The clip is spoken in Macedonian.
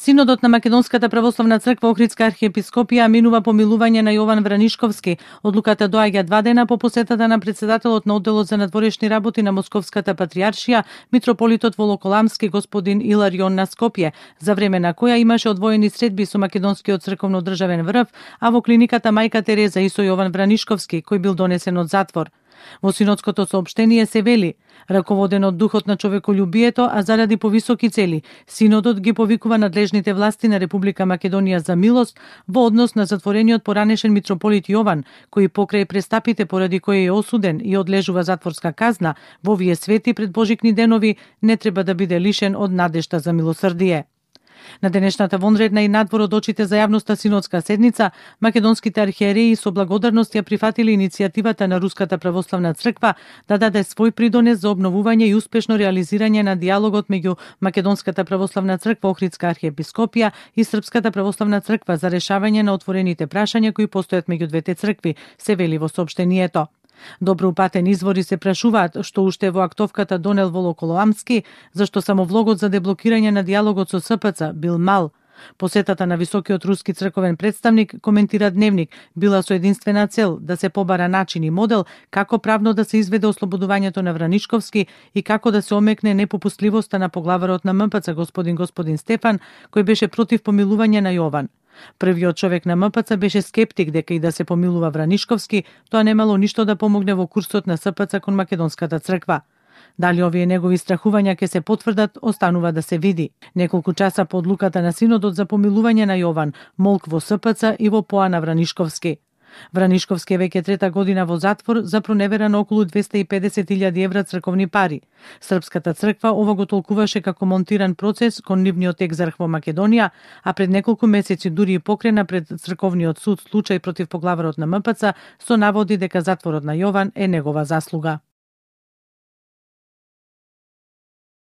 Синодот на Македонската православна црква Охридска архиепископија минува помилување на Јован Вранишковски. Одлуката доаѓа 2 дена по посетата на председателот на одделот за надворешни работи на Московската патријаршија, митрополитот Волоколамски господин Иларион на Скопје, за време на која имаше одвоени средби со македонскиот црковно-државен врв, а во клиниката Мајка Тереза и со Јован Вранишковски, кој бил донесен од затвор. Во синодското соопштение се вели: раководен од духот на човеколюбието, а заради повисоки цели, синодот ги повикува надлежните власти на Република Македонија за милост во однос на затворениот поранешен митрополит Јован, кој покрај престапите поради кои е осуден и одлежува затворска казна во овие свети пред Божикни денови, не треба да биде лишен од надежта за милосрдие. На денешната вонредна и надвор од очите за јавноста синодска седница, македонските архиереи со благодарност ја прифатили иницијативата на Руската православна црква да даде свој придонес за обновување и успешно реализирање на диалогот меѓу Македонската православна црква Охридска архиепископија и Српската православна црква за решавање на отворените прашања кои постојат меѓу двете цркви, се вели во соопштението. Добро упатен извори се прашуваат што уште во актовката донел Волоколамски, зашто само влогот за деблокирање на диалогот со СПЦ бил мал. Посетата на високиот руски црковен представник, коментира Дневник, била со единствена цел да се побара начин и модел како правно да се изведе ослободувањето на Вранишковски и како да се омекне непопустливоста на поглаварот на МПЦ господин Стефан, кој беше против помилување на Јован. Првиот човек на МПЦ беше скептик дека и да се помилува Вранишковски, тоа немало ништо да помогне во курсот на СПЦ кон Македонската црква. Дали овие негови страхувања ќе се потврдат, останува да се види. Неколку часа по одлуката на синодот за помилување на Јован, молк во СПЦ и во поа на Вранишковски. Вранишковски е веќе 3-та година во затвор за проневера на околу 250.000 евра црковни пари. Српската црква ова го толкуваше како монтиран процес кон нивниот екзарх во Македонија, а пред неколку месеци дури и покрена пред црковниот суд случај против поглаварот на МПЦ со наводи дека затворот на Јован е негова заслуга.